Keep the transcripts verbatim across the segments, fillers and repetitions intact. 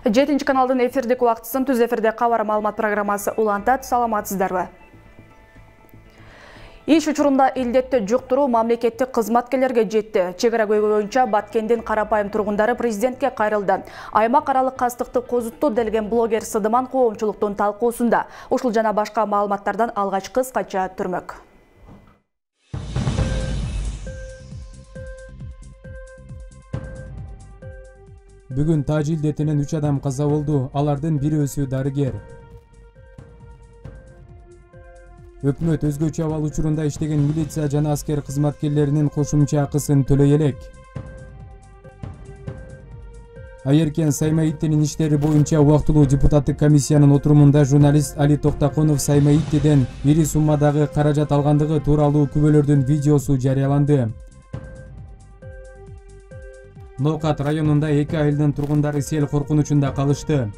жетинчи каналдын эфирдик убактысын түз эфирде кабар маалымат программасы улантат. Саламатсыздарбы? Иш учурунда илдетти жуктуруу мамлекеттик кызматкерлерге жетти. Чегара көйгөй боюнча Баткендин карапайым тургундары президентке кайрылды. Аймак аралык кастыкты козутту делген блогер Сыдыман коомчулуктун талкуусунда. Ушул жана башка маалыматтардан алгач кыскача түрмөк. Бүгүн Тажи илдетинен үч адам каза болду. Алардын бирөөсү дарыгер. Өкмөт өзгөчө абал учурунда иштеген милиция жана аскер кызматкерлеринин кошумча акысын төлөй элек. Айеркен Саймаиттинин иштери боюнча убактылуу депутаттык комиссиянын отурумунда журналист Али Токтаконов Саймаиттиден ири суммадагы каражат алгандыгы тууралуу күбөлөрдүн видеосу жарыяланды. Ноокат районунда эки айылдын тургундары сел коркунучунда калышты.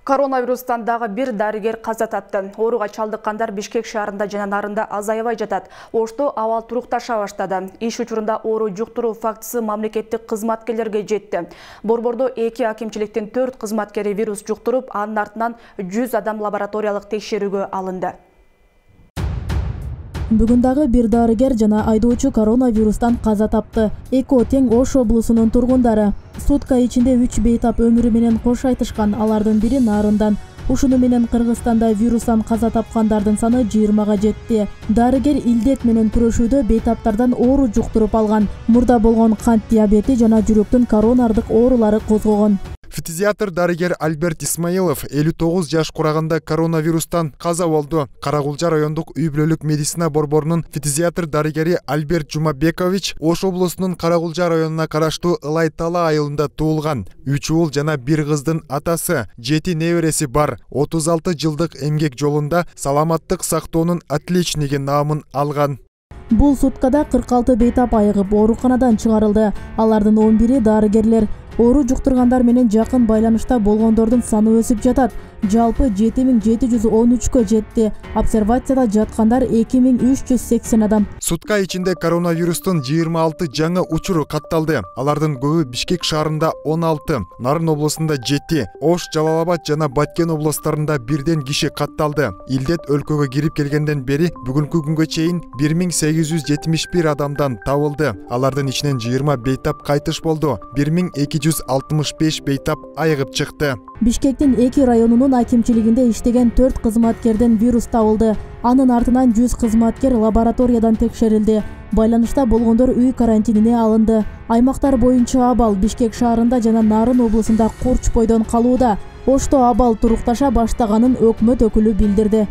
Коронавирустан дагы бир дарыгер каза тапты. Ооруга чалдыккандар Бишкек шаарында жана нарында азайбай жатат. Ошто абал турукташа баштады. Иш учурунда оору жуктуруу фактысы мамлекеттик кызматкерлерге жетти. Борбордо эки акимчиликтин төрт кызматкери вирус жуктуруп, анын артынан жүз адам лабораториялык текшерүүгө алынды. Бүгүн дагы бир дарыгер жана айдоочу коронавирустан каза тапты. Эко тең Ош облусунун тургундары. Сутка ичинде үч бейтап өмүрү менен кош айтышкан, алардын бири нарындан. Ушуну менен Кыргызстанда вирустан каза тапкандардын саны жыйырмага жетти. Дарыгер илдет менен күрөшүүдө бейтаптардан оору жуктуруп алган. Мурда болгон кант диабети жана жүрөктүн коронардык оорулары козгогон. Фтизиатр дарыгер Альберт Исмаилов элүү тогуз жаш кураганда коронавирустан каза болду. Карагулжа райондук үй-бүлөлүк медицина борборунун фтизиатр дарыгери Альберт Жумабекович Ош облусунун Карагулжа районуна караштуу Ылай Тала айылында туулган. Үч уул жана бир кыздын атасы, жети небереси бар. отуз алты жылдык эмгек жолунда саламаттык сактоонун отличниги наамын алган. Бул суткада кырк алты бейтап айыгып ооруканадан чыгарылды. Алардын он бири дарыгерлер. Оору жуктургандар менен жакын байланышта болгондордун саны өсүп жатат. Жалпы жети миң жети жүз он үчкө жетти. Обсервацияда жаткандар эки миң үч жүз сексен адам. Сутка ичинде коронавирустун жыйырма алты жаңы учуру катталды. Алардын көбү Бишкек шаарында он алты, Нарын облусунда жети, Ош, Жалал-Абад жана Баткен облустарында бирден киши катталды. Илдет өлкөгө кирип келгенден бери бүгүнкү күнгө чейин бир миң сегиз жүз жетимиш бир адамдан табылды. Алардын ичинен жыйырма бейтап кайтыш болду. бир миң эки жүз алтымыш беш бейтап айыгып чыкты. Бишкектин эки районунун акимчилигинде иштеген төрт кызматкерден вирус табылды. Анын артынан жүз кызматкер лабораториядан текшерилди. Байланышта болгондор үй карантинине алынды. Аймактар боюнча абал Бишкек шаарында жана Нарын облусунда курч бойдон калууда. Ошто абал турукташа баштаганын өкмөт өкүлү билдирди.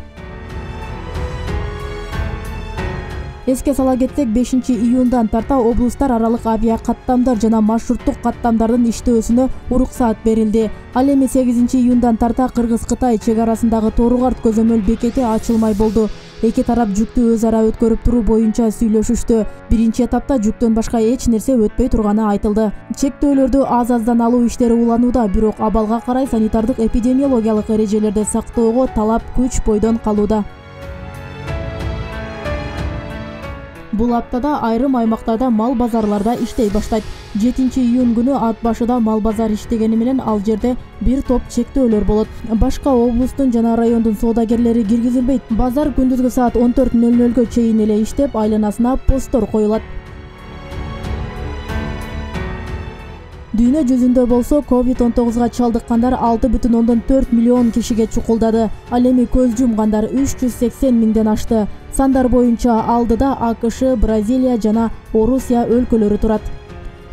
Эске сала кетсек, бешинчи июндан тарта облустар аралык авиа каттамдар жана маршруттук каттамдардын иштөөсүнө уруксаат берилди. Ал эми сегизинчи июндан тарта Кыргыз-Кытай чек арасындагы Тору-Карт көзөмөл бекети ачылмай болду. Эки тарап жүктү өз ара өткөрүп туруу боюнча сүйлөшүштү. Биринчи этапта жүктөн башка эч нерсе өтпөй турганы айтылды. Чектөөлөрдү аз-аздан алуу иштери уланууда, бирок абалга карай санитардык эпидемиологиялык эрежелерди сактоого талап күч бойдон калууда. Бул аптада айрым аймактарда мал базарларда иштей баштайт. жетинчи июнь күнү ат башыда мал базар иштегени менен ал жерде бир топ чектөөлөр болот. Башка облустун жана райондун соодагерлери киргизилбейт. Базар күндүзгү саат он төрт нөл нөлгө чейин эле иштеп, айланасына посттор коюлат. Дүйнө жүзүндө болсо ковид он тогузга чалдыккандар алты бүтүн ондон төрт миллион кишиге чукулдады. Ал эми көз жумгандар үч жүз сексен миңден ашты. Сандар боюнча алдыда АКШ, Бразилия жана Орусия өлкөлөрү турат.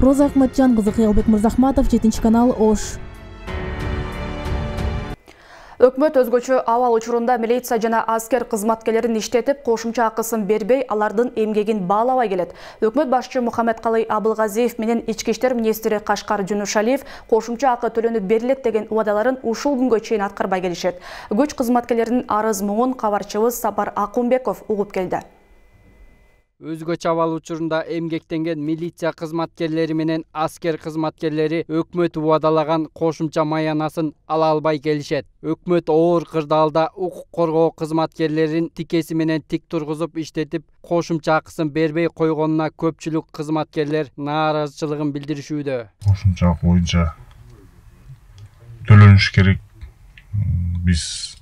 Роза Акматжан кызы, Кыялбек Мырзахматов, жетинчи канал, Ош. Өкмөт өзгөчө абал учурунда милиция жана аскер кызматкерлерин иштетип, кошумча акысын бербей, алардын эмгегин баалабай келет. Өкмөт башчы Мухаммедкалый Абылгазиев менен ички иштер министри Кашкар Жунушалиев кошумча акы төлөнүп берилет деген убадаларын ушул күнгө чейин аткарбай келишет. Күч кызматкерлеринин арыз муңун кабарчыбыз Сапар Акунбеков угуп келди. Өзгөчө абал учурунда эмгектенген милиция кызматкерлери менен аскер кызматкерлери өкмөт убадалаган кошумча маянасын ала албай келишет. Өкмөт оор кырдаалда укук коргоо кызматкерлерин тикеси менен тик тургузуп иштетип, кошумча акысын бербей койгонуна көпчүлүк кызматкерлер нааразычылыгын билдиришүүдө. Кошумча акы боюнча төлөнүш керек. Биз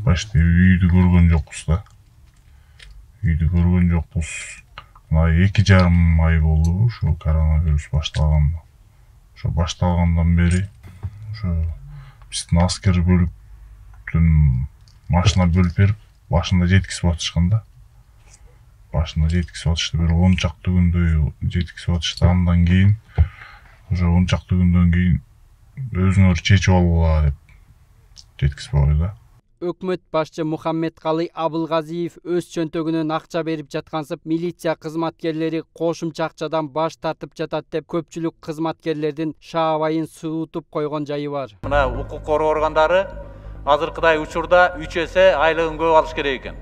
башта үйдү көргөн жокпуз да. Үйдү көргөн жокпуз. Мына эки жарым ай болду ушу коронавирус башталганда. Ошо башталгандан бери ошо биздин аскер бөлүктүн машина бөлүп берип, башында жеткизип атышкан да. Башында жеткизип атышты, бир он чакты күндөй жеткизип атышты. Андан кийин ошо он чакты күндөн кийин өзүңөр чечип алгыла деп жеткизип койду да. Өкмөт башчы Мухаммедкалый Абылгазиев өз чөнтөгүнөн акча берип жаткансып, милиция кызматкерлери кошумча акчадан баш тартып жатат деп көпчүлүк кызматкерлердин шаабайын суутуп койгон жайы бар. Мына укук коргоо органдары азыркыдай учурда үч эсе айлыгын көп алыш керек экен.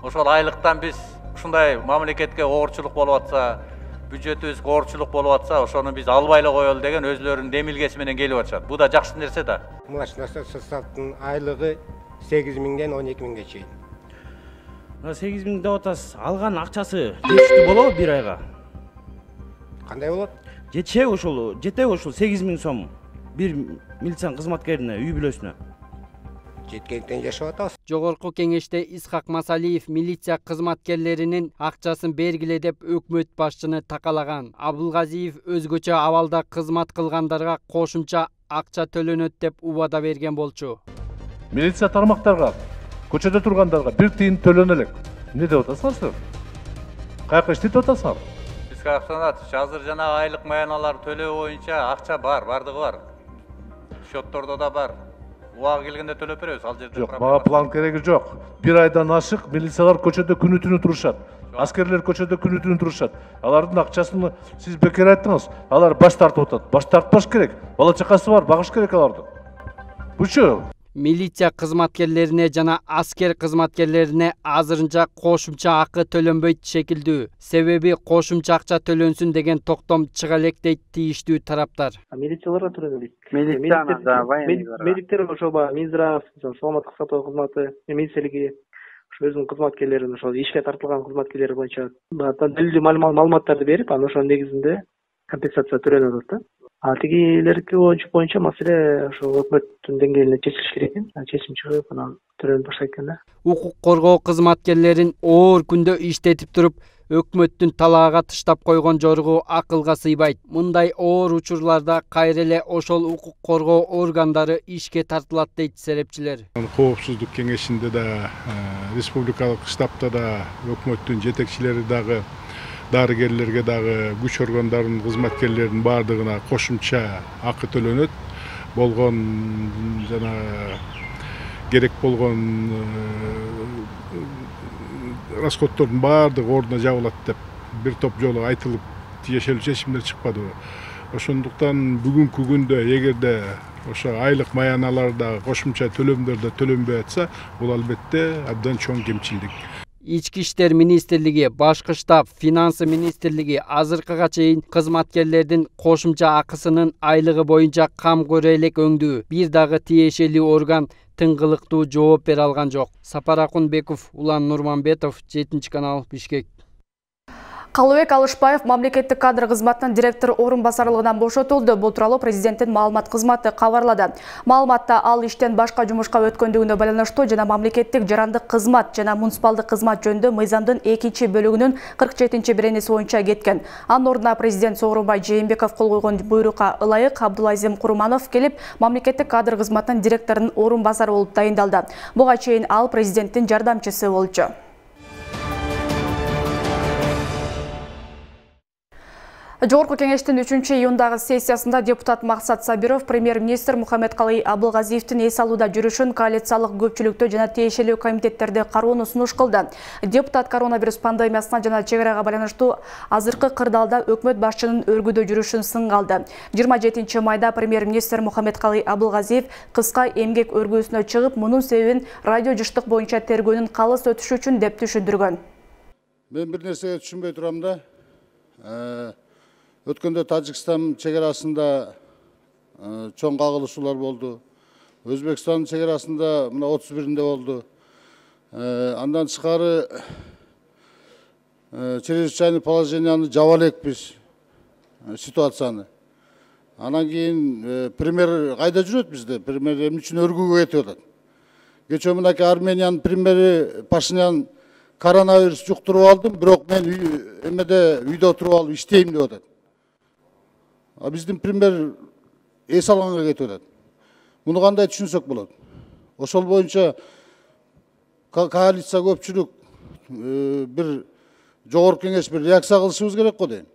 Ошол айлыктан биз ушундай мамлекетке оорчулук болуп атса, бюджетибизге оорчулук болуп атса, ошону биз албай эле коелу деген өзлөрүнүн демилгеси менен келип атышат. Бул да жакшы нерсе да. Млачный составдын айлыгы сегиз миңден он эки миңге чейин. сегиз миң деп атасыз. Алган акчасы жетиштүү болобу бир айга? Кандай болот? Жетешеби ошол, жетеби ошол сегиз миң сом бир милиция кызматкерине, үй бүлөсүнө? Жеткенден жашап атабыз. Жогорку кеңеште Исхак Масалиев милиция кызматкерлеринин акчасын бергиле деп өкмөт башчыны такалаган. Абылгазиев өзгөчө абалда кызмат кылгандарга кошумча акча төлөнөт деп убада берген болчу. Милиция тармактарга, көчөдө тургандарга бир тыйын төлөнө элек. Эмне деп атасыңар силер? Каяка иштетип атасыңар? Бизге акчаны азыр жана айлык маяналар төлөө боюнча акча бар, бардыгы бар. Счеттордо да бар. Убагы келгенде төлөп беребиз, ал жерде. Жок, мага план кереги жок. Бир айдан ашык милициялар көчөдө күнү түнү турушат. Аскерлер көчөдө күнү түнү турушат. Алардын акчасын сиз бекер айттыңыз. Алар баш тартып атат. Баш тартпаш керек. Бала чакасы бар, багыш керек аларды. Бучу Милиция кызматкерлерине жана аскер кызматкерлерине азырынча кошумча акы төлөнбөйт шекилдүү. Себеби кошумча акча төлөнсүн деген токтом чыга элек дейт тийиштүү тараптар. Милицияларга төлөнөбүз. Милиция да, военныйларга. Медиктер ошо Минздрав, саламаттык сактоо кызматы, милициялыгы ошо өзүнүн кызматкерлерин ошо ишке тартылган кызматкерлер боюнча далилдүү маалыматтарды берип, анан ошонун негизинде компенсация төлөнөт да. А тигилерки боюнча маселе ошо өкмөттүн деңгээлинде чечилиш керек экен. Чечим чыгып, анан төлөнүп баштайт экен да. Укук коргоо кызматкерлерин оор күндө иштетип туруп, өкмөттүн талаага тыштап койгон жоругу акылга сыйбайт. Мындай оор учурларда кайра эле ошол укук коргоо органдары ишке тартылат дейт серепчилер. Коопсуздук кеңешинде да, республикалык штабта да өкмөттүн жетекчилери дагы, дарыгерлерге дагы, күч органдарынын кызматкерлеринин баардыгына кошумча акы төлөнөт. Болгон жана керек болгон расходтордун баардыгы ордуна жабылат деп бир топ жолу айтылып, тиешелүү чечимдер чыкпадыбы. Ошондуктан бүгүнкү күндө эгерде ошо айлык маяналарда кошумча төлөмдөрдө төлөнбөй атса, бул албетте абдан чоң кемчилдик. Ички иштер министрлиги, башкы штаб, финансы министрлиги азыркыга чейин кызматкерлердин кошумча акысынын айлыгы боюнча кам көрө элек өңдүү. Бир дагы тиешелүү орган тыңгылыктуу жооп бере алган жок. Сапар Акунбеков, Улан Нурманбетов, жетинчи канал, Бишкек. Калыбек Алышбаев мамлекеттик кадр кызматынын директор орун басарлыгынан бошотулду. Бул тууралуу президенттин маалымат кызматы кабарлады. Маалыматта ал иштен башка жумушка өткөндүгүнө байланыштуу жана мамлекеттик жарандык кызмат жана муниципалдык кызмат жөнүндө мыйзамдын экинчи бөлүгүнүн кырк жетинчи беренеси боюнча кеткен. Анын ордуна президент Сооронбай Жээнбеков кол койгон буйрукка ылайык Абдулазим Курманов келип, мамлекеттик кадр кызматынын директорунун орун басары болуп дайындалды. Буга чейин ал президенттин жардамчысы болчу. Жогорку кеңештин үчүнчү июндагы сессиясында депутат Максат Сабиров премьер-министр Мухаммедкалый Абылгазиевдин эс алууда жүрүшүн коалициялык көпчүлүктө жана тиешелүү комитеттерде кароону сунуш кылды. Депутат коронавирус пандемиясына жана чек арага байланыштуу азыркы кырдаалда өкмөт башчынын өргүдө жүрүшүн сынга алды. жыйырма жетинчи майда премьер-министр Мухаммедкалый Абылгазиев кыска эмгек өргүүсүнө чыгып, мунун себебин радио жыштык боюнча тергөөнүн калыс өтүшү үчүн деп түшүндүргөн. Мен bir нерсеге түшүнбөй турам да. Өткөндө Тажикстан чегарасында чоң кагылышуулар болду. Өзбекстан чегарасында мына отуз биринде болду. Андан тышкары чрезвычайный положенияны жаба элекпиз ситуацияны. Анан кийин премьер кайда жүрөт бизде? Премьер эмне үчүн өргүүгө кетип атат? Кечээ мынакей Армениянын премьери Пашинян коронавирус жуктуруп алдым, бирок мен эмеде үйдө отуруп алып иштейм деп атат. А биздин премьер эс алганга кетип атат. Муну кандай түшүнсөк болот? Ошол боюнча коалиция көпчүлүк бир жогорку кеңеш бир реакция кылышыбыз керек го дейм.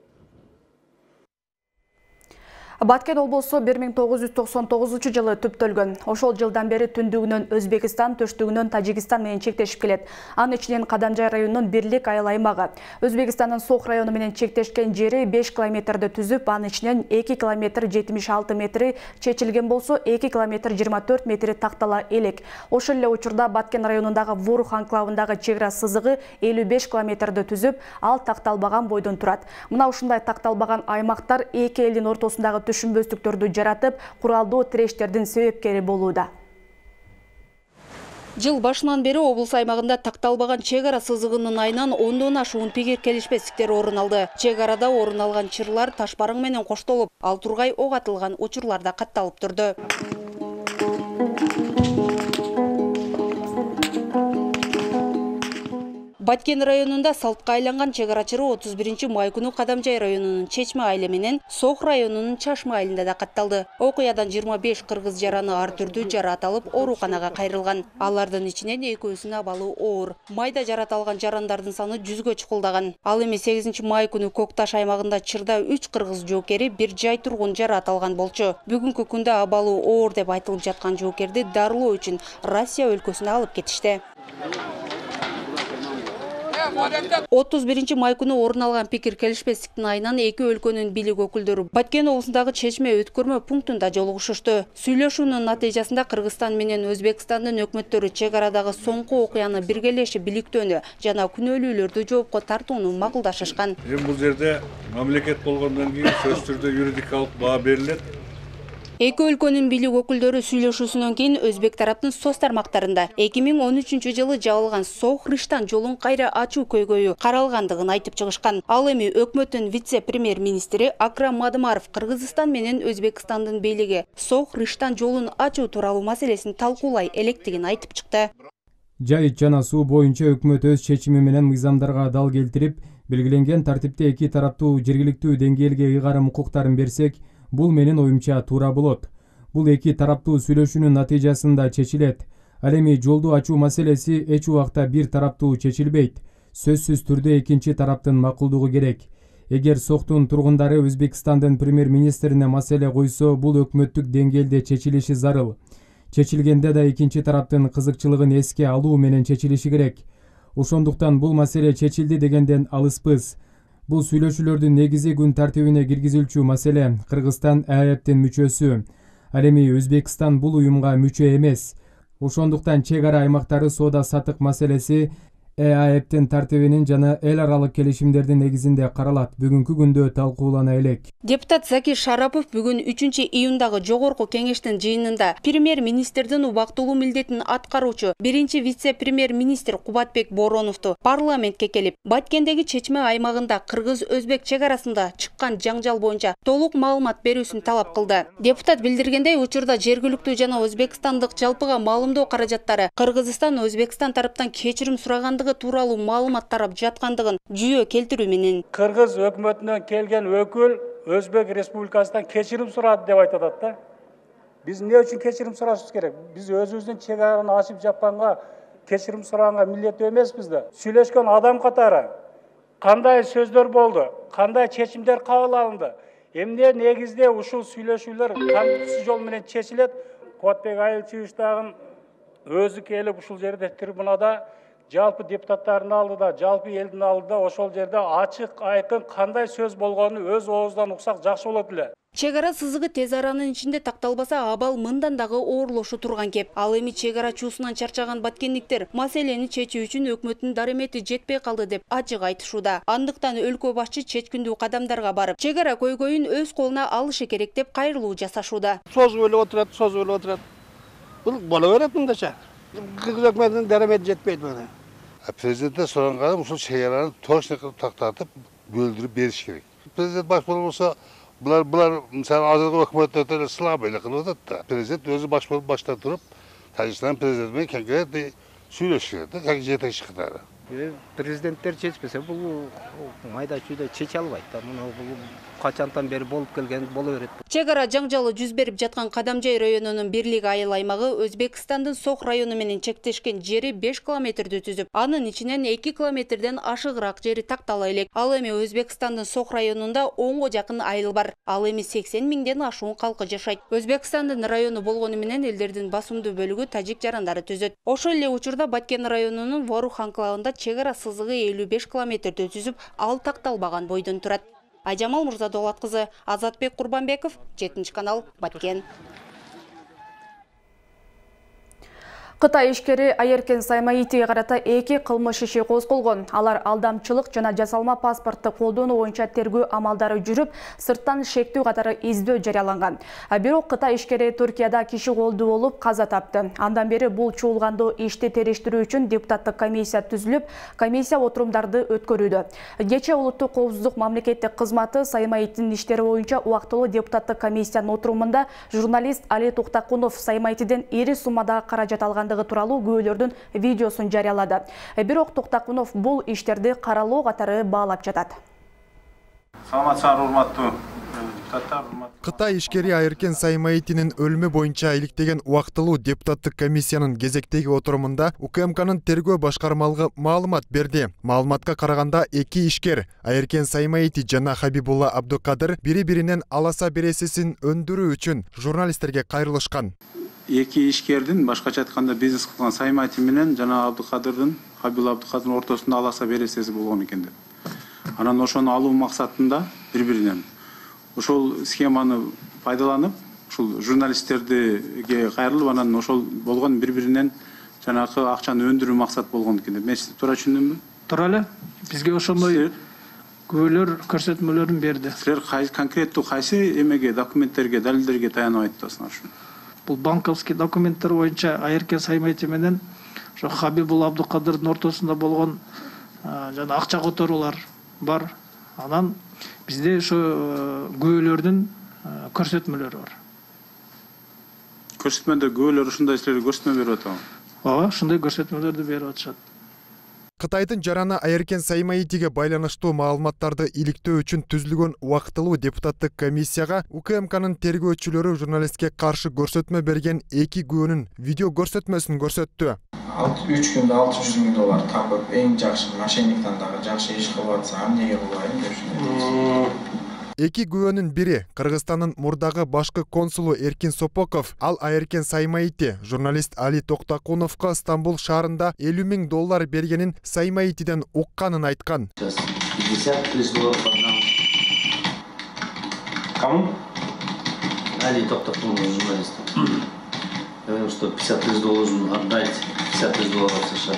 Баткен облусу бир миң тогуз жүз токсон тогузунчу жылы түптөлгөн. Ошол жылдан бери түндүгүнөн Өзбекстан, төштүгүнөн Тажикстан менен чектешип келет. Анын ичинен Кадамжай районунун Бирлик айыл аймагы. Өзбекстандын Сох району менен чектешкен жери беш километрди түзүп, анын ичинен эки километр жетимиш алты метри чечилген болсо, эки километр жыйырма төрт метри тактала элек. Ошол эле учурда Баткен районундагы Вурух анклавындагы чек ара сызыгы элүү беш километрди түзүп, ал такталбаган бойдон турат. Мына ушундай такталбаган аймактар эки элдин ортосундагы түшүнбөстүктөрдү жаратып, куралдуу тирештердин себепкери болууда. Жыл башынан бери облус аймагында такталбаган чек ара сызыгынын айынан ондон ашуун пикир келишпестиктер орун алды. Чек арада орун алган чырлар таш барың менен коштолуп, ал тургай ок атылган учурлар да катталып турду. Баткен районунда салтка айланган чек арачыры отуз биринчи май күнү Кадамжай районунун Чечме айылы менен Сох районунун Чашма айылында да катталды. Окуядан жыйырма беш кыргыз жараны ар түрдүү жарат алып ооруканага кайрылган. Алардын ичинен экөөсүнүн абалы оор. Майда жарат алган жарандардын саны жүзгө чукулдаган. Ал эми сегизинчи май күнү Кокташ аймагында чырда үч кыргыз жоокери бир жай тургун жарат алган болчу. Бүгүнкү күндө абалы оор деп айтылып жаткан жоокерди дарылоо үчүн Россия өлкөсүнө алып кетишти. отуз биринчи май күнү орун алган пикир келишпестиктин айынан эки өлкөнүн бийлик өкүлдөрү Баткен облусундагы Чечме өткөрмө пунктунда жолугушушту. Сүйлөшүүнүн натыйжасында Кыргызстан менен Өзбекстандын өкмөттөрү чек арадагы соңку окуяны биргелешип иликтөөнү жана күнөөлүүлөрдү жоопко тартууну макулдашышкан. Эми бул жерде мамлекет болгондон кийин сөзсүз түрдө юридикалык баа берилет. Эки өлкөнүн бийлик өкүлдөрү сүйлөшүүсүнөн кийин Өзбек тараптын соц тармактарында эки миң он үчүнчү жылы жабылган Сох-Рыштан жолун кайра ачуу көйгөйү каралгандыгын айтып чыгышкан. Ал эми өкмөттүн вице-премьер-министри Акрам Мадымаров Кыргызстан менен Өзбекстандын бийлиги Сох-Рыштан жолун ачуу тууралуу маселесин талкуулай электигин айтып чыкты. Жайыт жана суу боюнча өкмөт өз чечими менен мыйзамдарга дал келтирип, белгиленген тартипте эки тараптуу жергиликтүү деңгээлге ыйгарым укуктарын берсек, бул менин оюмча туура болот. Бул эки тараптуу сүйлөшүүнүн натыйжасында чечилет. Ал эми жолду ачуу маселеси эч убакта бир тараптуу чечилбейт. Сөзсүз түрдө экинчи тараптын макулдугу керек. Эгер Сохтун тургундары Өзбекстандын премьер-министрине маселе койсо, бул өкмөттүк деңгээлде чечилиши зарыл. Чечилгенде да экинчи тараптын кызыкчылыгын эске алуу менен чечилиши керек. Ошондуктан бул маселе чечилди дегенден алыспыз. Бул сүйлөшүүлөрдүн негизи күн тартибине киргизилчү маселе. Кыргызстан Э А Эптин мүчөсү. Ал эми Өзбекстан бул уюмга мүчө эмес. Ошондуктан чек ара аймактары соода сатык маселеси Э А Эптин тартибинин жана эл аралык келишимдердин негизинде каралат. Бүгүнкү күндө талкуулана элек. Депутат Закир Шарапов бүгүн үчүнчү июндагы жогорку кеңештин жыйынында премьер-министрдин убактылуу милдетин аткаруучу биринчи вице-премьер-министр Кубатбек Бороновду парламентке келип, Баткендеги Чечме аймагында кыргыз-өзбек чек арасында чыккан жаңжал боюнча толук маалымат берүүсүн талап кылды. Депутат билдиргендей, учурда жергиликтүү жана өзбекстандык жалпыга маалымдоо каражаттары Кыргызстан Өзбекстан тараптан кечирим сурагандыгы тууралуу маалымат тарап жаткандыгын жүйө келтирүү менен Кыргыз өкмөтүнөн келген өкүл Өзбек Республикасынан кечирим сурады деп айтат да. Биз эмне үчүн кечирим сурашыбыз керек? Биз өзүбүздүн чек араны ачып жапканга кечирим сураганга милдеттүү эмеспиз да. Сүйлөшкөн адам катары кандай сөздөр болду? Кандай чечимдер кабыл алынды? Эмне негизде ушул сүйлөшүүлөр кантип жол менен чечилет? Кубатбек Айылчевич дагы өзү келип ушул жерде трибунада жалпы депутаттардын алдыда, жалпы элдин алдыда ошол жерде ачык айкын кандай сөз болгонун өз оозунан уксак жакшы болот эле. Чек ара сызыгы тез аранын ичинде такталбаса, абал мындан дагы оорлошу турган кеп. Ал эми чек ара чуусунан чарчаган баткендиктер маселени чечүү үчүн өкмөттүн дарымети жетпей калды деп ачык айтышууда. Андыктан өлкө башчы чечкиндүү кадамдарга барып, чек ара көйгөйүн өз колуна алышы керек деп кайрылуу жасашууда. Созуп эле отурат, созуп эле отурат. Бул боло берет мындача. Кыргыз өкмөтүнүн дарымети жетпейт мына. Президенттен суранга ушул чек араны точно кылып тактатып, бөлдүрүп бериш керек. Президент баш болбосо, Бұлар, бұлар, мысалы, азырғы өкіметтер слабо эле кылып атат да. Президент өзү баш болуп башта туруп, Тажикстан президентимен конкретный сүйлөшүп керек да, как жетекчи катары. Президенттер чечпесе, бул майда чүйдө чече албайт да. Муну бул качантан бери болуп келген боло берет. Чек ара жаңжалы жүз берип жаткан Кадамжай районунун бирлик айыл аймагы Өзбекстандын Сок району менен чектешкен жери беш километрди түзүп, анын ичинен эки километрден ашыгыраак жери тактала элек. Ал эми Өзбекстандын Сок районунда онго жакын айыл бар. Ал эми сексен миңден ашуун калкы жашайт. Өзбекстандын району болгону менен элдердин басымдуу бөлүгү тажик жарандары түзөт. Ошол эле учурда Баткен районунун Ворух анклавында чек ара сызыгы элүү беш километрди түзүп, ал такталбаган бойдон турат. Айжамал Мурзадолат кызы, Азатбек Курбанбеков, жетинчи канал, Баткен. Кытай ишкери Айеркен Саймаитиге карата эки кылмыш иши козголгон. Алар алдамчылык жана жасалма паспортты колдонуу боюнча тергөө амалдары жүрүп, сырттан шектүү катары издөө жарыяланган. Бирок Кытай ишкери Түркияда киши колду болуп каза тапты. Андан бери бул чуулгандуу ишти териштирүү үчүн депутаттык комиссия түзүлүп, комиссия отурумдарды өткөрүүдө. Кечээ Улуттук коопсуздук мамлекеттик кызматы Саймаиттин иштери боюнча убактылуу депутаттык комиссиянын отурумунда журналист Али Токтакунов Саймаитиден ири суммадагы каражат алган тууралуу күбөлөрдүн видеосун жарыялады. Бирок Токтакунов бул иштерди каралоо катары баалап жатат. Саламатсыздар, урматтуу Кытай ишкери Айеркен Саймаитинин өлүмү боюнча иликтеген убактылуу депутаттык комиссиянын кезектеги отурумунда УКМКнын тергөө башкармалыгы маалымат берди. Маалыматка караганда эки ишкер Айеркен Саймаити жана Хабибулла Абдукадыр бири-биринен аласа бересесин өндүрүү үчүн журналисттерге кайрылышкан. Эки ишкердин башкача айтканда бизнес кылган Саймаити менен жана Абдукадырдын Хабибулла Абдукадырдын ортосунда аласа бересеси болгон экен деп. Анан ошону алуу максатында бири-биринен ошол схеманы пайдаланып, ушул журналисттерге кайрылып, анан ошол болгон бири-биринен жанагы акчаны өндүрүү максат болгон экен деп. Мен сизди туура түшүндүмбү? Туура эле. Бизге ошондой күбөлөр, көрсөтмөлөрүн берди. Силер конкреттүү кайсы эмеге, документтерге, далилдерге таянып айтасыңар ушуну? Бул банковский документтер боюнча Айеркен Саймаити менен ошо Хабибулла Абдукадырдын ортосунда болгон жана акча которуулар бар. Анан бизде ошо күбөлөрдүн көрсөтмөлөрү бар. Көрсөтмөдө күбөлөр ушундай силерге көрсөтмө берип атабы? Ооба, ушундай көрсөтмөлөрдү берип атышат. Кытайдын жараны Айеркен Саймаитиге байланыштуу маалыматтарды иликтөө үчүн түзүлгөн убактылуу депутаттык комиссияга УКМКнын тергөөчүлөрү журналистке каршы көрсөтмө берген эки күбөнүн видео көрсөтмөсүн көрсөттү. үч күндө алты жүз миң доллар тапып, эң жакшы мошенниктен дагы жакшы иш кылып атса, эмнеге кылбайм деп. Эки күбөнүн бири Кыргызстандын мурдагы башкы консулу Эркин Сопоков, ал Айеркен Саймаити журналист Али Токтакуновго Стамбул шаарында элүү миң доллар бергенин Саймаитиден укканын айткан. пятьдесят тысяч долларов отдам. Кому? Али Токтакунов, журналист. Я говорю, что пятьдесят тысяч должен отдать, пятьдесят тысяч долларов США.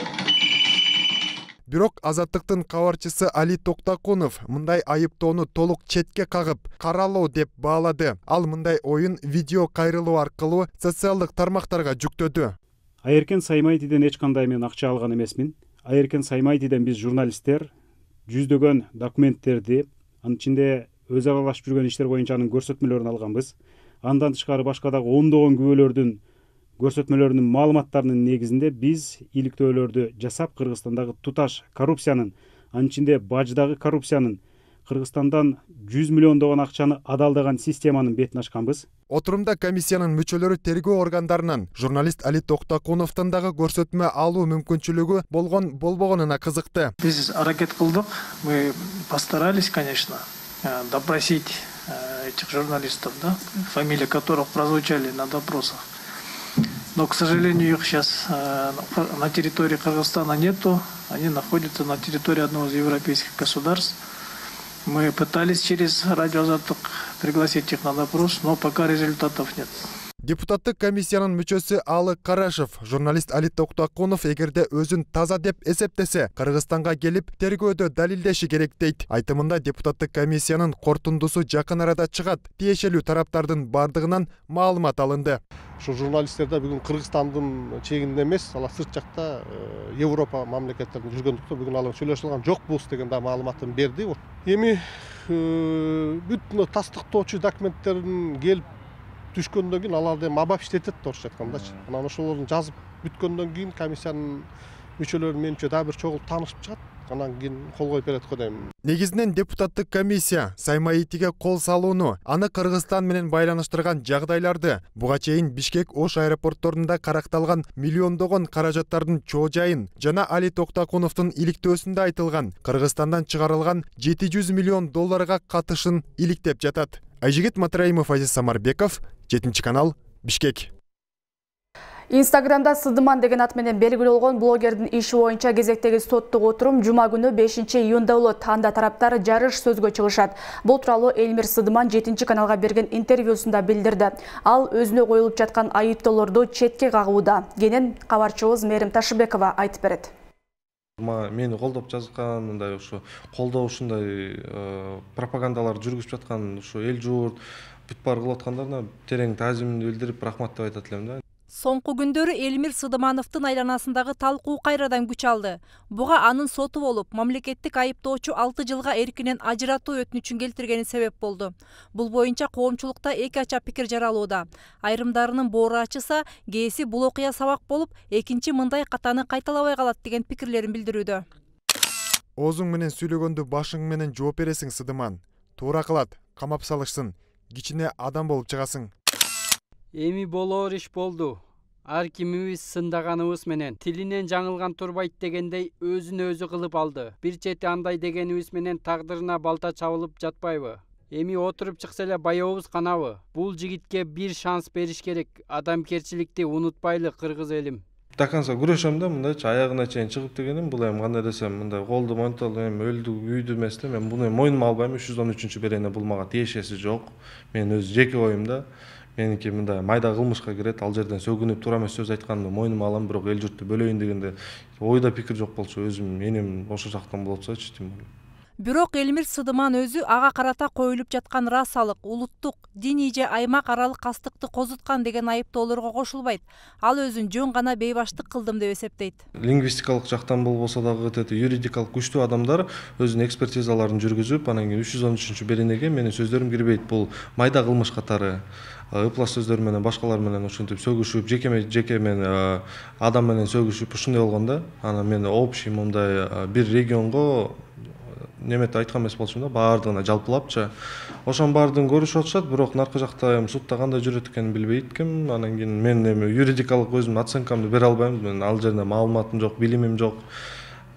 Бирок Азаттыктын кабарчысы Али Токтакунов мындай айыптоону толук четке кагып, каралоо деп баалады. Ал мындай оюн видео кайрылуу аркылуу социалдык тармактарга жүктөдү. Айеркен Саймаитиден эч кандай мен акча алган эмесмин. Айеркен Саймаитиден биз журналисттер жүздөгөн документтерди, анын ичинде өзү аралашып жүргөн иштер боюнча анын көрсөтмөлөрүн алганбыз. Андан тышкары башка дагы ондогон күбөлөрдүн көрсөтмөлөрүнүн маалыматтарынын негизинде биз иликтөөлөрдү жасап Кыргызстандагы туташ коррупциянын, анын ичинде баждагы коррупциянын, Кыргызстандан жүз миллиондогон акчаны адалдаган системанын бетин ачканбыз. Отурумда комиссиянын мүчөлөрү тергөө органдарынан журналист Али Токтакуновдон дагы көрсөтмө алуу мүмкүнчүлүгү болгон болбогонуна кызыкты. Биз аракет кылдык, мы постарались, конечно, допросить этих журналистов, да, фамилии которых прозвучали на допросах. Но, к сожалению, их сейчас э, на территории Кыргызстана нету. Они находятся на территории одного из европейских государств. Мы пытались через радио Азаттык пригласить их на допрос, но пока результатов нет. Депутаттык комиссиянын мүчөсү Алы Карашев, журналист Али Токтакунов эгерде өзүн таза деп эсептесе, Кыргызстанга келип тергөөдө далилдеши керек дейт. Айтымында депутаттык комиссиянын корутундусу жакын арада чыгат. Тиешелүү тараптардын бардыгынан маалымат алынды. Ошо журналисттерде бүгүн Кыргызстандын чегинде эмес, алар сырт жакта Европа мамлекеттеринде жүргөндүктөн бүгүн алар сүйлөшүп алган жокпуз деген да маалыматын берди. Эми бүт тастыктоочу документтерин келип түшкөндөн кийин аларды эми абап иштетет орусча айткандачы. Анан ошолорду жазып бүткөндөн кийин комиссиянын мүчөлөрү менимче дагы бир чогулуп таанышып чыгат. Анан кийин кол коюп берет го дейм. Негизинен депутаттык комиссия Саймаитиге кол салууну, аны Кыргызстан менен байланыштырган жагдайларды, буга чейин Бишкек Ош аэропортторунда каракталган миллиондогон каражаттардын чоо жайын жана Али Токтакуновдун иликтөөсүндө айтылган Кыргызстандан чыгарылган жети жүз миллион долларга катышын иликтеп жатат. Айжигит Матраимов, Азиз Самарбеков, жетинчи канал, Бишкек. Инстаграмда Сыдыман деген ат менен белгилүү болгон блогердин иши боюнча кезектеги соттук отурум жума күнү бешинчи июнда болот. Анда тараптар жарыш сөзгө чыгышат. Бул тууралуу Элмир Сыдыман жетинчи каналга берген интервьюсунда билдирди. Ал өзүнө коюлуп жаткан айыптоолорду четке кагууда. Кенен кабарчыбыз Мээрим Ташыбекова айтып берет. Мени колдоп жазган, мындай ошо колдоо ушундай пропагандалар жүргүзүп жаткан ошо эл журт бүт баары кылып аткандарына терең таазимимди билдирип рахмат деп айтат элем да. Соңку күндөрү Элмир Сыдымановдун айланасындагы талкуу кайрадан күч алды. Буга анын соту болуп, мамлекеттик айыптоочу алты жылга эркинен ажыратуу өтүнүчүн келтиргени себеп болду. Бул боюнча коомчулукта эки ача пикир жаралууда. Айрымдарынын боору ачыса, кээси бул окуя сабак болуп, экинчи мындай катаны кайталабай калат деген пикирлерин билдирүүдө. Оозуң менен сүйлөгөндө башың менен жооп бересиң, Сыдыман. Туура кылат, камап салышсын. Кичине адам болуп чыгасың. Эми болоор иш болду. Ар кимибиз сындаганыбыз менен тилинен жаңылган турбайт дегендей өзүн өзү кылып алды. Бир чети андай дегенибиз менен тагдырына балта чабылып жатпайбы? Эми отуруп чыкса эле баябыз канабы? Бул жигитке бир шанс бериш керек. Адамгерчиликти унутпайлы, кыргыз элим. До конца күрөшөм да, мындайчы аягына чейин чыгып дегеним, бул эми кандай десем, мындай колду монтол эми өлдү, үйдү эмес да, мен буну мойнума албайм. үч жүз он үчүнчү берене бул мага тиешеси жок. Мен өз жеке оюм да. Меники мындай майда кылмышка кирет, ал жерден сөгүнүп туура эмес сөз айтканды мойнума алам, бирок эл журтту бөлөйүн дегенде ойда пикир жок болчу, өзүм энем ошо жактан болчучу дейм. Бирок Элмир Сыдыман өзү ага карата коюлуп жаткан расалык, улуттук, диний же аймак аралык кастыкты козуткан деген айыптоолорго кошулбайт. Ал өзүн жөн гана бейбаштык кылдым деп эсептейт. Лингвистикалык жактан болбосо дагы тети юридикалык күчтүү адамдар өзүнүн экспертизаларын жүргүзүп, анан кийин үч жүз он үчүнчү беренеге менин сөздөрүм кирбейт. Бул майда кылмыш катары ыплас сөздөр менен башкалар менен ушинтип сөгүшүп, жекеме жеке мен адам менен сөгүшүп ушундай болгон да. Анан мен общий мындай бир регионго неметип айткан эмес болчумун да, баардыгына жалпылапчы. Ошонун баардыгын көрүшүп атышат, бирок наркы жакта эми сутта кандай жүрөт экенин билбейт экенмин. Анан кийин мен эми юридикалык өзүмдүн оценкамды бере албайм. Мен ал жерде маалыматым жок, билимим жок.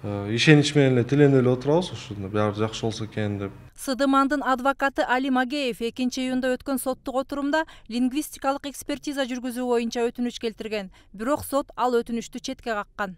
Ишенич менен эле тиленип эле отурабыз, ушунда баары жакшы болсо экен деп. Сыдымандын адвокаты Али Магеев экинчи июнда өткөн соттук отурумда лингвистикалык экспертиза жүргүзүү боюнча өтүнүч келтирген. Бирок сот ал өтүнүчтү четке каккан.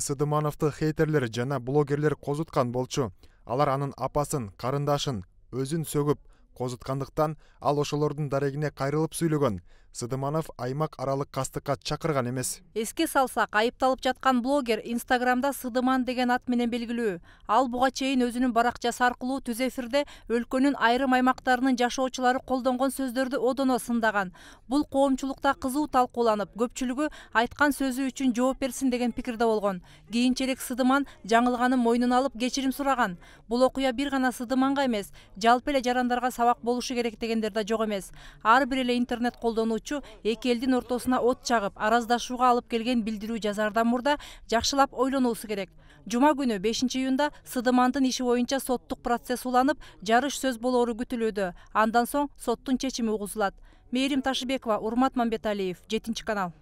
Сыдымановду хейтерлер жана блогерлер козуткан болчу. Алар анын апасын, карындашын, өзүн сөгүп козуткандыктан ал ошолордун дарегине кайрылып сүйлөгөн. Сыдыманов аймак аралык кастыкка чакырган эмес. Эске салсак, айыпталып жаткан блогер Инстаграмда Сыдыман деген ат менен белгилүү. Ал буга чейин өзүнүн баракчасы аркылуу түз эфирде өлкөнүн айрым аймактарынын жашоочулары колдонгон сөздөрдү одоно сындаган. Бул коомчулукта кызуу талкууланып, көпчүлүгү айткан сөзү үчүн жооп берсин деген пикирде болгон. Кийинчерээк Сыдыман жаңылганын мойнуна алып кечирим сураган. Бул окуя бир гана Сыдыманга эмес, жалпы эле жарандарга сабак болушу керек дегендер да жок эмес. Ар бир эле интернет колдонуучу эки элдин ортосуна от чагып, араздашууга алып келген билдирүү жазаардан мурда жакшылап ойлонуусу керек. Жума күнү бешинчи июнда Сыдымандын иши боюнча соттук процесс уланып, жарыш сөз болоору күтүлүүдө. Андан соң соттун чечими угузулат. Мээрим Ташыбекова, Урмат Мамбеталиев, жетинчи канал.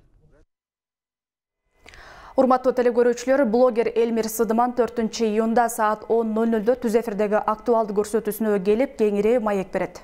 Урматтуу телекөрүүчүлөр, блогер Элмир Сыдыман төртүнчү июнда саат он ноль нолдо түз эфирдеги актуалдуу көрсөтүүсүнө келип, кеңири маек берет.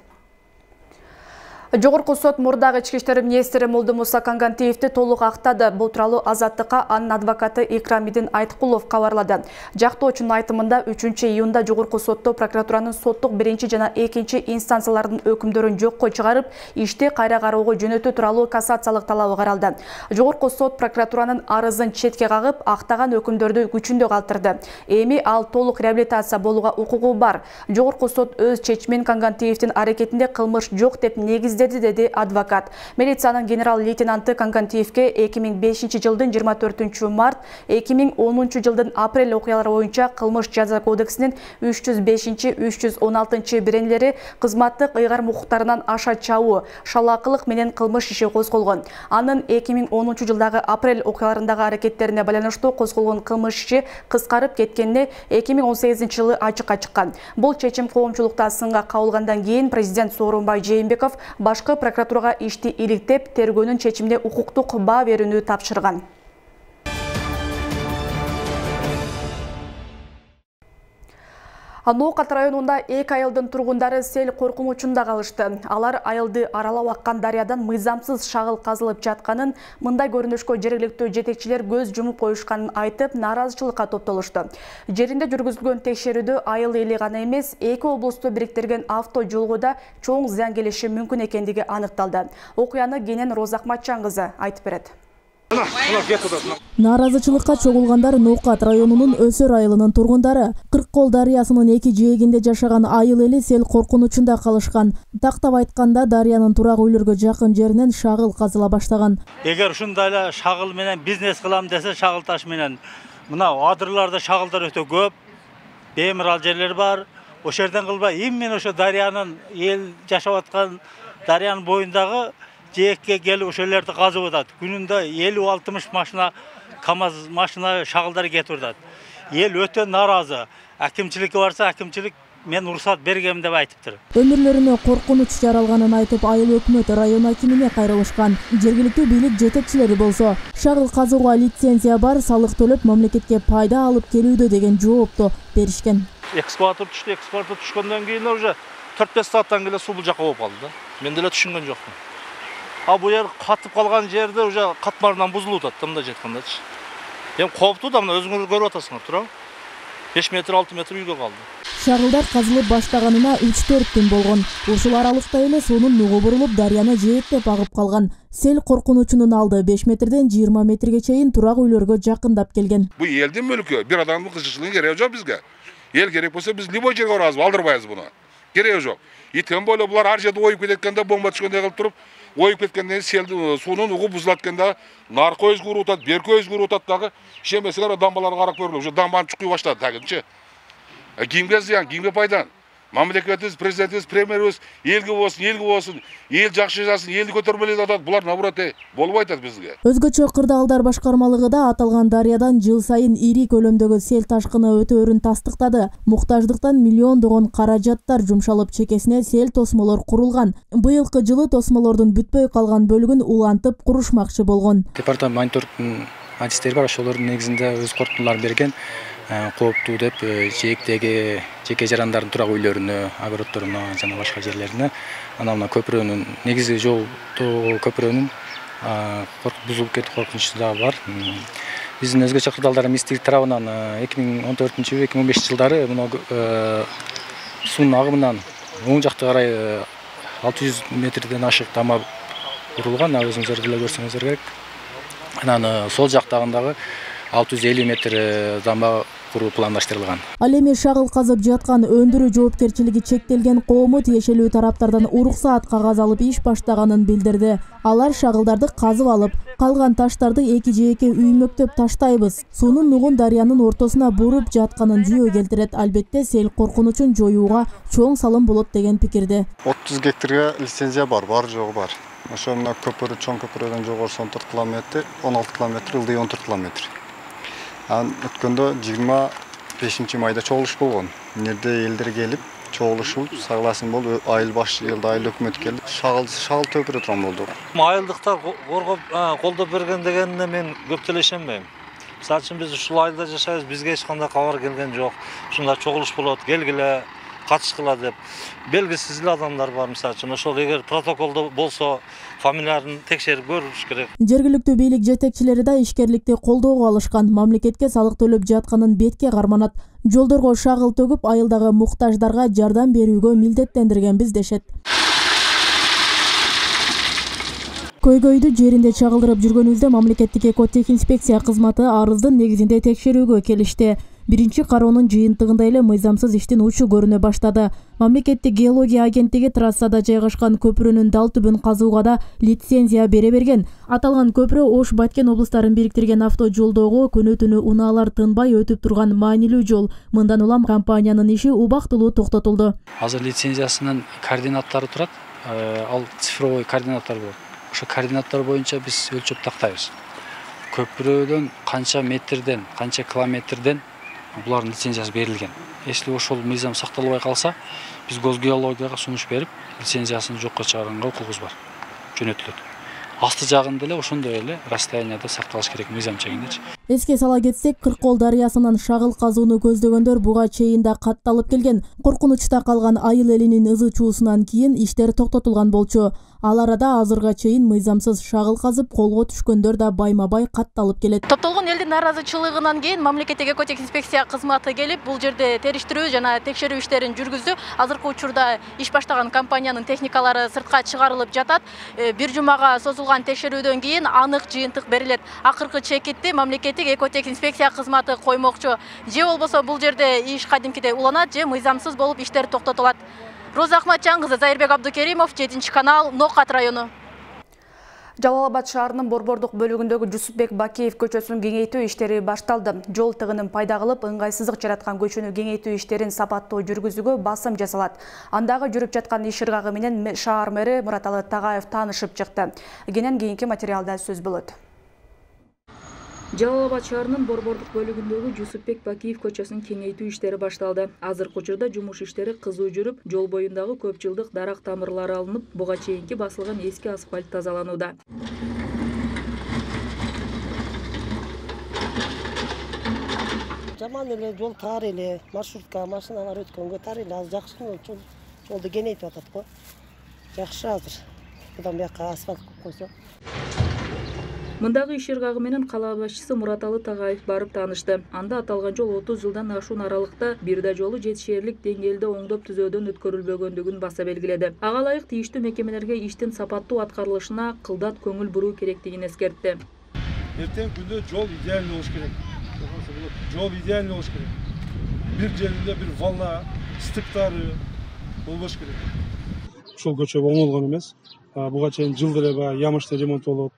Жогорку сот мурдагы ички иштер министри Молдумуса Кангантиевди толук актады. Бул тууралуу Азаттыкка анын адвокаты Икрамидин Айткулов кабарлады. Жактоочунун айтымында үчүнчү июнда жогорку сотто прокуратуранын соттук биринчи жана экинчи инстанциялардын өкүмдөрүн жокко чыгарып, ишти кайра кароого жөнөтүү тууралуу кассациялык талабы каралды. Жогорку сот прокуратуранын арызын четке кагып, актаган өкүмдөрдү күчүндө калтырды. Эми ал толук реабилитация болууга укугу бар. Жогорку сот өз чечимин Кангантиевдин аракетинде кылмыш жок деп негиздеди, деди адвокат. Милициянын генерал-лейтенанты Кангантиевге эки миң бешинчи жылдын жыйырма төртүнчү март, эки миң онунчу жылдын апрель окуялары боюнча кылмыш жаза кодексинин үч жүз бешинчи үч жүз он алтынчы беренелери кызматтык ыйгар укуктарынан аша чабуу, шалаакылык менен кылмыш иши козголгон. Анын эки миң онунчу жылдагы апрель окуяларындагы аракеттерине байланыштуу козголгон кылмыш иши кыскарып кеткенине эки миң он сегизинчи жылы ачыкка чыккан. Бул чечим коомчулукта сынга кабылгандан кийин президент Сооронбай Жээнбеков башкы прокуратурага ишти иликтеп, тергөөнүн чечимине укуктук баа берүүнү тапшырган. Ноокат районунда эки айылдын тургундары сел коркунучунда калышты. Алар айылды аралап аккан дарыядан мыйзамсыз шагыл казылып жатканын, мындай көрүнүшкө жергиликтүү жетекчилер көз жумуп коюшканын айтып, нааразычылыкка топтолушту. Жеринде жүргүзүлгөн текшерүүдө айыл эли гана эмес, эки облусту бириктирген авто жолго да чоң зыян келиши мүмкүн экендиги аныкталды. Окуяны Кенен Розакматчан кызы айтып берет. Нааразычылыкка чогулгандар Ноокат районунун Өсөр айылынын тургундары. Кырккол дарыясынын эки жээгинде жашаган айыл эли сел коркунучунда калышкан. Тактап айтканда дарыянын турак үйлөргө жакын жеринен шагыл казыла баштаган. Эгер ушундай эле шагыл менен бизнес кылам десе, шагыл таш менен мына адырларда шагылдар өтө көп, беймирал жерлер бар. Ошол жерден кылбай, именно ошо дарыянын эл жашап аткан дарыянын боюндагы жээкке келип ошол жерди казып атат. Күнүндө элүү алтымыш машина, КАМАЗ машина шагылдар кетип атат. Эл өтө нааразы. Акимчиликке барса, акимчилик мен уруксат бергем деп айтыптыр. Өмүрлөрүнө коркунуч жаралганын айтып, айыл өкмөт район акимине кайрылышкан. Жергиликтүү бийлик жетекчилери болсо, шагыл казууга лицензия бар, салык төлөп мамлекетке пайда алып келүүдө деген жоопту беришкен. Экскаватор түштү, экскаватор түшкөндөн кийин уже төрт беш сааттан келе суу бул жака болуп калды да. Мен деле түшүнгөн жокмун. А бу жер катып калган жерде уже катмарынан бузулуп атат, мындай айткандачы. Эми кооптуу да, мына өзүңөр көрүп атасыңар, туурабы? беш метр, алты метр үйгө калды. Шагылдар казылып баштаганына үч төрт күн болгон. Ушул аралыкта эле суунун нугу бурулуп, дарыяны жээктеп агып калган. Сел коркунучунун алды беш метрден жыйырма метрге чейин турак үйлөргө жакындап келген. Бу элдин мүлкү, бир адамдын кызыкчылыгы кереги жок бизге. Эл керек болсо биз любой жерге барабыз, алдырбайбыз буну. Кереги жок. И тем более булар ар жерде оюп кеткенде, бомба түшкөндөй кылып туруп, оюп кеткенде селди суунун угу бузулат эткенде, наркы өзгө уруп атат, берки өзгө уруп атат дагы. Ишенбесеңер, дамбаларга карап көрүлүп, уже дамбаны чукуй баштады тагынчы. Кимге зыян, кимге пайда? Мамлекетибиз, президентибиз, премьерибиз элге болсун, элге болсун, эл жакшы жашасын, элди көтөрмөлөйт атат. Булар наоборот болбой атат бизге. Өзгөчө кырдаалдар башкармалыгы да аталган дарыядан жыл сайын ири көлөмдөгү сел ташкыны өтөөрүн тастыктады. Муктаждыктан миллиондогон каражаттар жумшалып, чекесине сел тосмолор курулган. Быйылкы жылы тосмолордун бүтпөй калган бөлүгүн улантып курушмакчы болгон. Департамент мониторингдин адистери бар, ошолордун негизинде өз корутундуларын берген. Кооптуу деп жээктеги жеке жарандардын турак үйлөрүнө, огороддоруна жана башка жерлерине, анан мына көпүрөнүн негизи жолдо көпүрөнүн бузулуп кетүү коркунучу да бар. Биздин өзгөчө кырдаалдар министрлик тарабынан эки миң он төртүнчү эки миң он бешинчи жылдары мына суунун агымынан оң жакта карай алты жүз метрден ашык дама курулган, өзүңүздөр деле көрсөңүздөр керек. Анан сол жактагындагы алты жүз элүү метр дама куруу пландаштырылган. Ал эми шагыл казып жаткан өндүрүү жоопкерчилиги чектелген коому тиешелүү тараптардан уруксаат кагаз алып иш баштаганын билдирди. Алар шагылдарды казып алып, калган таштарды эки жээкке үймөктөп таштайбыз. Суунун нугун дарыянын ортосуна буруп жатканын жүйө келтирет. Албетте сел коркунучун жоюуга чоң салым болот деген пикирде. отуз гектарга лицензия бар, бар жогу бар. Ошо мына көпүрө, чоң көпүрөдөн жогорусу он төрт километр, он алты километр, ылдый он төрт километр. Ан өткөндө жыйырма бешинчи майда чогулуш болгон. Нерде элдер келип, чогулушуп, согласен болуп, айыл баш жылда айыл өкмөт келип, шагыл шагыл төпүрө турган болдук. Айылдыктар коргоп, колдоп берген дегенине мен көп деле ишенбейм. Мисалы үчүн биз ушул айылда жашайбыз, бизге эч кандай кабар келген жок. Ушундай чогулуш болот, келгиле, катышкыла деп белгисиз эле адамдар бар. Мисалы үчүн ошол эгер протоколдо болсо фамилияларын текшерип көрүш керек. Жергиликтүү бийлик жетекчилери да ишкерликти колдоого алышкан, мамлекетке салык төлөп жатканын бетке карманат. Жолдорго шагыл төгүп, айылдагы муктаждарга жардам берүүгө милдеттендиргенбиз дешет. Көйгөйдү жеринде чагылдырып жүргөнүбүздө мамлекеттик экотехинспекция кызматы арыздын негизинде текшерүүгө келишти. Биринчи кароонун жыйынтыгында эле мыйзамсыз иштин учу көрүнө баштады. Мамлекеттик геология агенттиги трассада жайгашкан көпүрөнүн дал түбүн казууга да лицензия бере берген. Аталган көпүрө Ош Баткен облустарын бириктирген авто жолдогу күнү-түнү унаалар тынбай өтүп турган маанилүү жол. Мындан улам компаниянын иши убактылуу токтотулду. Азыр лицензиясынын координаттары турат. Ал цифровой координаттар болот. Ошо координаттар боюнча биз өлчөп тактайбыз. Көпүрөдөн канча метрден, канча километрден булардын лицензиясы берилген. Если ошол мыйзам сакталбай калса, биз Госгеологияга сунуш берип, лицензиясын жокко чыгарганга укугубуз бар. Жөнөтүлөт. Асты жагында эле ошондой эле расстоянияда сакталыш керек мыйзам чегиндечи. Эске сала кетсек, Кыркол дарыясынан шагыл казууну көздөгөндөр буга чейин да катталып келген. Коркунучта калган айыл элинин ызы чуусунан кийин иштер токтотулган болчу. Ал арада азырга чейин мыйзамсыз шагыл казып колго түшкөндөр да байма-бай катталып келет. Топтолгон элдин наразычылыгынан кийин мамлекеттик экотехинспекция кызматы келип, бул жерде териштирүү жана текшерүү иштерин жүргүздү. Азыркы учурда иш баштаган компаниянын техникалары сыртка чыгарылып жатат. Бир жумага созулган текшерүүдөн кийин анык жыйынтык берилет. Акыркы чекитти мамлекеттик экотехинспекция кызматы коймокчу. Же болбосо бул жерде иш кадимкидей уланат, же мыйзамсыз болуп иштер токтотулат. Роза Ахматжан кызы, Зайырбек Абдукеримов, жетинчи канал, Нокат району. Жалал Абад шаарынын борбордук бөлүгүндөгү Жусупбек Бакиев көчөсүн кеңейтүү иштери башталды. Жол тыгынын пайда кылып, ыңгайсыздык жараткан көчөнү кеңейтүү иштерин сапаттуу жүргүзүүгө басым жасалат. Андагы жүрүп жаткан иш ыргагы менен шаар мэри Мураталы Тагаев таанышып чыкты. Кенен кийинки материалда сөз болот. Жалал Абад шаарынын борбордук бөлүгүндөгү Жусупбек Бакиев көчөсүнүн кеңейтүү иштери башталды. Азыркы учурда жумуш иштери кызуу жүрүп, жол боюндагы көп жылдык дарак тамырлары алынып, буга чейинки басылган эски асфальт тазаланууда. Жаман эле жол тар эле, маршрутка машиналар өткөнгө тар эле, азыр жакшы жол жолду кеңейтип атат го. Жакшы азыр. Будан бияка асфальт койсо. Мындагы иш ыргагы менен кала башчысы Мураталы Тагаев барып таанышты. Анда аталган жол отуз жылдан ашуун аралыкта бир да жолу жетишээрлик деңгээлде оңдоп түзөөдөн өткөрүлбөгөндүгүн баса белгиледи. Ага ылайык тийиштүү мекемелерге иштин сапаттуу аткарылышына кылдат көңүл буруу керектигин эскертти. Эртең күндө жол идеальный болуш керек. Жол идеальный болуш керек. Бир жеринде бир волна, стыктары болбош керек. Ушул көчө оңолгон эмес. Буга чейин жылда эле баягы ямышты ремонт болуп,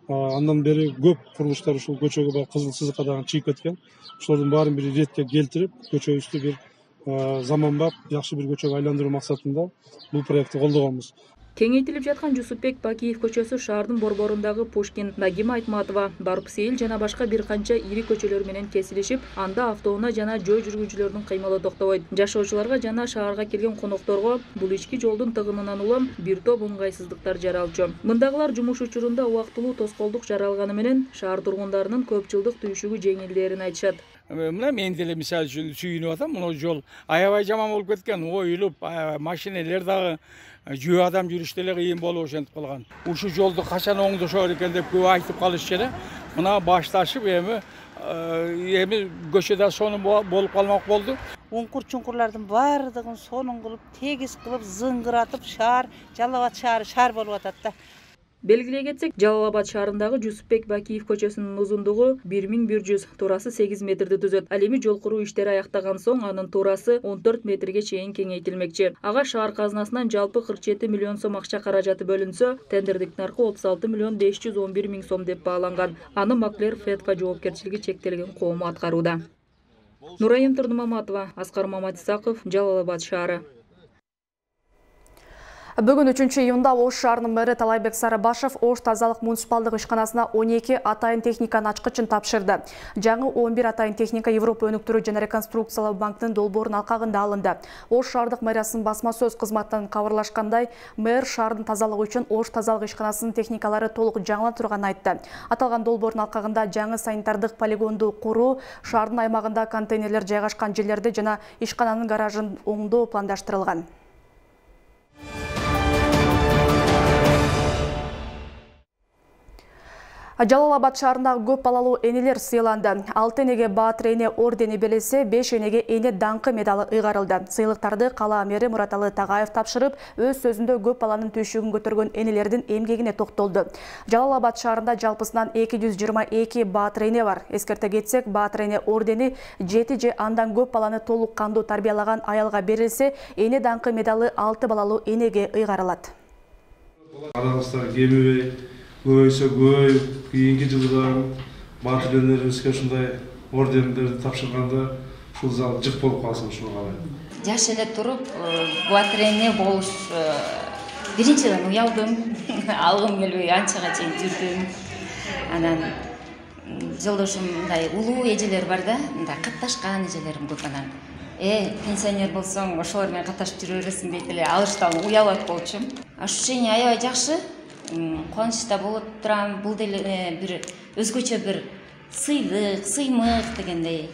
андан бери көп курулуштар ушул көчөгө баягы кызыл сызыкка дагы чыгып кеткен. Ошолордун баарын бир ретке келтирип, көчөбүздү бир заманбап, жакшы бир көчөгө айландыруу максатында бул проектти колдогонбуз. Кеңейтилип жаткан Жусупбек Бакиев көчөсү шаардын борборундагы Пушкин, Нагима Айтматова, Барпсейил жана башка бир канча ири көчөлөр менен кесилишип, анда автоунаа жана жөө жүргүнчүлөрдүн кыймылы токтобойт. Жашоочуларга жана шаарга келген конокторго бул ички жолдун тыгынынан улам бир топ ыңгайсыздыктар жаралчу. Мындагылар жумуш учурунда убактылуу тоскоолдук жаралганы менен шаар тургундарынын көп жылдык түйшүгү жеңилдээрин айтышат. Мына мен деле мисалы үчүн сүйүнүп атам, мына жол аябай жаман болуп кеткен, оюлуп, машинелер дагы жөө адам жүрүштө эле кыйын болуп ошентип калган. Ушу жолду качан оңдошор экен деп көп айтып калышчу эле. Мына башташып эми эми көчөдө сонун болуп калмак болду. Уңкур чуңкурлардын баардыгын сонун кылып, тегиз кылып, зыңгыратып шаар, Жалал Абад шаары шаар болуп атат да. Белгилей кетсек, Жалал Абад шаарындагы Жусупбек Бакиев көчөсүнүн узундугу бир миң бир жүз, туурасы сегиз метрди түзөт. Ал эми жол куруу иштери аяктаган соң анын туурасы он төрт метрге чейин кеңейтилмекчи. Ага шаар казынасынан жалпы кырк жети миллион сом акча каражаты бөлүнсө, тендердик наркы отуз алты миллион беш жүз он бир миң сом деп бааланган. Аны Маклер Фетка жоопкерчилиги чектелген коому аткарууда. Нурайым Турнумаматова, Аскар Маматисаков, Жалал Абад шаары. Бүгін үчүнчү июнда Ош шаарынын мэрі Талайбек Сарыбашев Ош тазалык муниципалдык ишканасына он эки атайын техниканын ачкычын тапшырды. Жаңы он бир атайын техника Европа өнүктүрүү жана реконструкциялоо банкынын долбоорунун алкагында алынды. Ош шаардык мэриясынын басма сөз кызматынан кабарлашкандай, мэр шаардын тазалыгы үчүн Ош тазалык ишканасынын техникалары толук жаңылана турганын айтты. Аталган долбоордун алкагында жаңы санитардык полигонду куруу, шаардын аймагында контейнерлер жайгашкан жерлерди жана ишкананын гаражын оңдоо пландаштырылган. Жалал Абад шаарындагы көп балалуу энелер сыйланды. алты энеге Баатыр эне ордени берилсе, беш энеге эне даңкы медалы ыйгарылды. Сыйлыктарды кала мэри Мураталы Тагаев тапшырып, өз сөзүндө көп баланын түйшүгүн көтөргөн энелердин эмгегине токтолду. Жалал Абад шаарында жалпысынан эки жүз жыйырма эки Баатыр эне бар. Эскерте кетсек, Баатыр эне ордени жети же андан көп баланы толук кандуу тарбиялаган аялга берилсе, эне даңкы медалы алты балалуу энеге ыйгарылат. Араңыздар кемибей, көбөйсө көбөйүп, кийинки жылдан Баатыр энелерибизге ушундай ордендерди тапшырганда ушул зал жык болуп калсын, ушуга калайм. Жаш эле туруп Баатыр эне болуш биринчиден уялдым, алгым келбей анчага чейин жүрдүм. Анан жолдошум мындай улуу эжелер бар да, мындай катташкан эжелерим көп. Анан э пенсионер болсоң ошолор менен катташып жүрө бересиң дейт эле, алыштан уялат болчумун. Ощущение аябай жакшы. Кубанычта болуп турам, бул деле бир өзгөчө бир сыйлык, сыймык дегендей.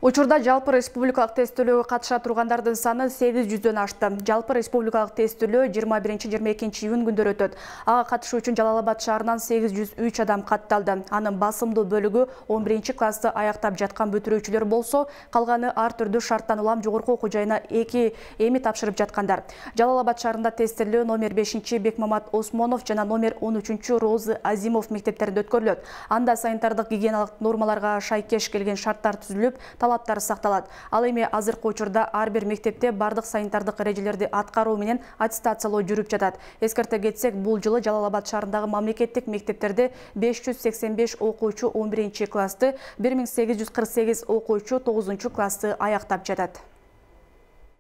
Учурда жалпы республикалык тестөөлөөгө катыша тургандардын саны сегиз жүздөн ашты. Жалпы республикалык тестөөлөө жыйырма биринчи жыйырма экинчи июнь күндөрү өтөт. Ага катышуу үчүн Жалал Абад шаарынан сегиз жүз үч адам катталды. Анын басымдуу бөлүгү он биринчи классты аяктап жаткан бүтүрүүчүлөр болсо, калганы ар түрдүү шарттан улам жогорку окуу жайына эки эми тапшырып жаткандар. Жалал Абад шаарында тестөөлөө номер бешинчи Бекмамат Осмонов жана номер он үчүнчү Розы Азимов мектептеринде өткөрүлөт. Анда санитардык гигиеналык нормаларга шайкеш келген шарттар түзүлүп, талаптар сакталат. Ал эми азыркы учурда ар бир мектепте бардык санитардык эрежелерди аткаруу менен аттестациялоо жүрүп жатат. Эскерте кетсек, бул жылы Жалал Абад шаарындагы мамлекеттик мектептерде беш жүз сексен беш окуучу он биринчи классты, бир миң сегиз жүз кырк сегиз окуучу тогузунчу классты аяктап жатат.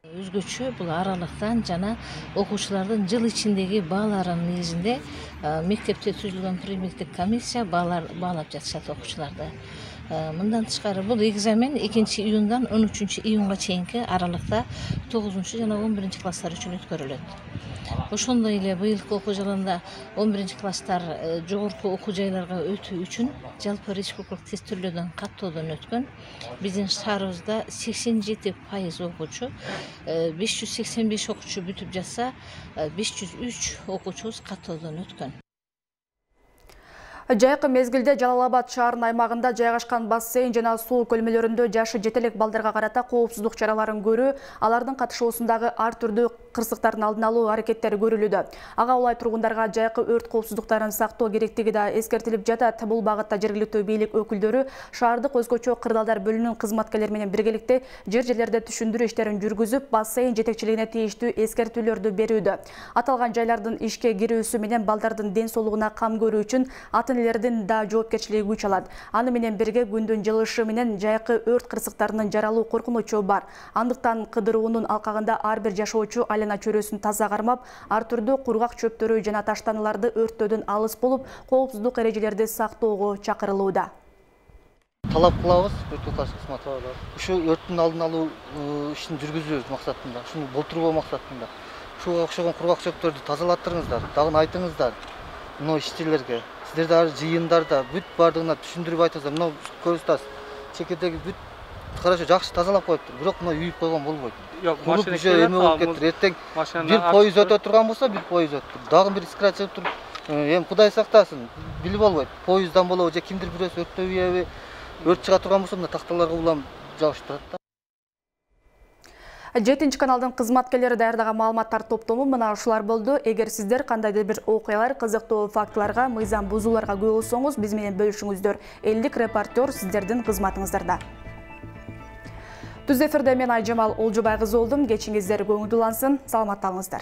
Өзгөчө бул аралыктан жана окуучулардын жыл ичиндеги бааларынын негизинде мектепте түзүлгөн премиктик комиссия баалап жатышат окуучуларды. Мындан тышкары бул экзамен экинчи июндан он үчүнчү июнга чейинки аралыкта тогузунчу жана он биринчи класстар үчүн өткөрүлөт. Ошондой эле быйылкы окуу жылында он биринчи класстар жогорку окуу жайларга өтүү үчүн жалпы республикалык тестөөлөөдөн каттоодон өткөн. Биздин шаарыбызда сексен жети пайыз окуучу, беш жүз сексен беш окуучу бүтүп жатса, беш жүз үч окуучубуз каттоодон өткөн. Жайкы мезгилде Жалал Абад шаарынын аймагында жайгашкан бассейн жана суу көлмөлөрүндө жашы жетелек балдарга карата коопсуздук чараларын көрүү, алардын катышуусундагы ар түрдүү кырсыктардын алдын алуу аракеттери көрүлүүдө. Ага улай тургундарга жайкы өрт коопсуздуктарын сактоо керектиги да эскертилип жатат. Бул багытта жергиликтүү бийлик өкүлдөрү шаардык өзгөчө кырдаалдар бөлүмүнүн кызматкерлери менен биргеликте жер-жерлерде түшүндүрүү иштерин жүргүзүп, бассейн жетекчилигине тийиштүү эскертүүлөрдү берүүдө. Аталган жайлардын ишке кирүүсү менен балдардын ден соолугуна кам көрүү үчүн ата-энелердин да жоопкерчилиги күч алат. Аны менен бирге күндүн жылышы менен жайкы өрт кырсыктарынын жаралуу коркунучу бар. Андыктан кыдыруунун алкагында ар бир жашоочу айлана чөйрөсүн таза кармап, ар түрдүү кургак чөптөрү жана таштаналарды өрттөөдөн алыс болуп, коопсуздук эрежелерди сактоого чакырылууда. Талап кылабыз, өрт кызматы ушу өрттүн алдын алуу ишин жүргүзүү максатында, ушуну болтурбоо максатында. Ушуга окшогон кургак чөптөрдү тазалаттырыңыздар, дагы айтыңыздар. Мына ишчилерге, сиздер дагы жыйындарда бүт бардыгына түшүндүрүп айтыңыздар. Мына көрүсүз, чекердеги бүт хорошо жакшы тазалап коюптур, бирок мына үйүп койгон болбойт. Куруп уже эме болуп кеттир. Эртең бир поезд өтө турган болсо, бир поезд өттүр. Дагы бир искра чыгып туруп, эми Кудай сактасын, билип болбойт. Поезддан болобу же кимдир бирөөсү өрттөбүйбү? Өрт чыга турган болсо, мына такталарга улам жабышып турат да. жетинчи каналдын кызматкерлери даярдаган маалыматтар топтому мына ушулар болду. Эгер сиздер кандайдыр бир окуялар, кызыктуу фактыларга, мыйзам бузууларга күбө болсоңуз, биз менен бөлүшүңүздөр. элдик репортер сиздердин кызматыңыздарда. Түз эфирде мен Айжамал Олжобай кызы болдум. Кечиңиздер көңүлдүү улансын. Саламатта болуңуздар.